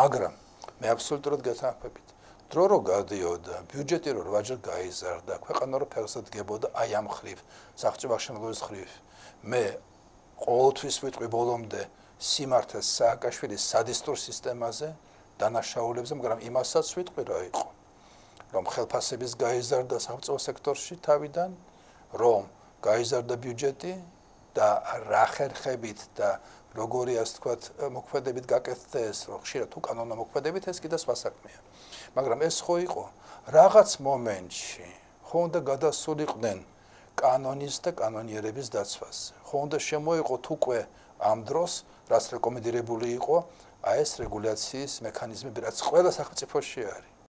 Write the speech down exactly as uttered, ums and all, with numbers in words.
მაგრამ მე აბსოლუტურად გეთანხმებით. დრო რო გადიოდა, ბიუჯეტი რო რვაჯერ გაიზარდა, ქვეყანა რო ფეხზე დგებოდა აი ამ ხრივ, სახელმწიფო აღშენებების ხრივ. მე ყოველთვის ვიტყვი ბოლომდე სიმართლეს სააკაშვილის სადისტურ სისტემაზე, დანაშაულებებზე, მაგრამ იმასაც ვიტყვი რა იყო. რომ ხელფასების გაიზარდა სახელმწიფო სექტორში თავიდან, რომ გაიზარდა ბიუჯეტი და რა ხერხებით და როგორი ასე თქვათ მოქმედებით გაკეთდეს, რომ ხშირად უკანონო მოქმედებით ეს კიდე სხვა საქმეა. მაგრამ ეს ხო იყო რაღაც მომენტში, ხო უნდა გადასულიყვნენ კანონის და კანონიერების დაცვაზე. ხო უნდა შემოიყოთ უკვე ამ დროს, რაც რეკომენდირებული იყო, აი ეს რეგულაციის მექანიზმები, რაც ყველა სახელმწიფოში არის.